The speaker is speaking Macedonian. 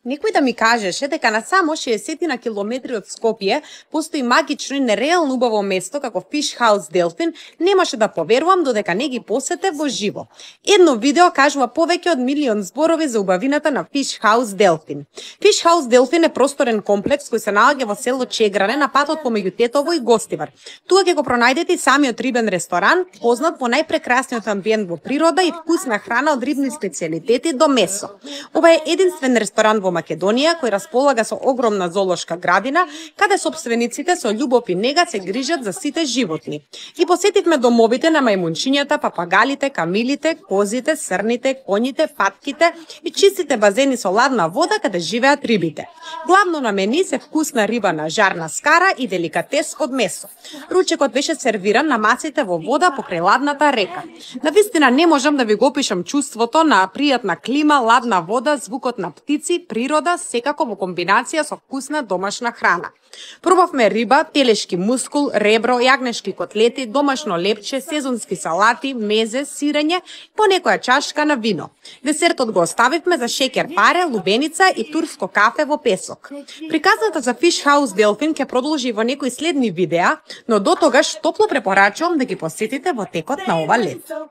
Некој да ми кажеше дека на само 60 на километри од Скопје постои магично и нереално убаво место како Fish House Delfin, немаше да поверувам додека не ги посетев во живо. Едно видео кажува повеќе од милион зборови за убавината на Fish House Delfin. Fish House Delfin е просторен комплекс кој се наоѓа во село Чегране на патот помеѓу Тетово и Гостивар. Тука ќе го пронајдете и самиот рибен ресторан, познат по најпрекрасниот амбиент во природа и вкусна храна од рибни специјалитети до месо. Ова е единствен ресторан во Македонија кој располага со огромна зоолошка градина, каде собствениците со љубов и нега се грижат за сите животни. Ги посетивме домовите на мајмунчињата, папагалите, камилите, козите, срните, коњите, патките и чистите базени со ладна вода каде живеат рибите. Главно на мени се вкусна риба на жарна скара и деликатес од месо. Ручекот беше сервиран на масите во вода покрај ладната река. Навистина не можам да ви го опишам чувството на пријатна клима, ладна вода, звукот на птици, природа, секако во комбинација со вкусна домашна храна. Пробавме риба, телешки мускул, ребро, јагнешки котлети, домашно лепче, сезонски салати, мезе, сирење, по некоја чашка на вино. Десертот го оставивме за шеќер паре, лубеница и турско кафе во песок. Приказната за Fish House Delfin ќе продолжи во некои следни видеа, но до тогаш топло препорачувам да ги посетите во текот на ова лето.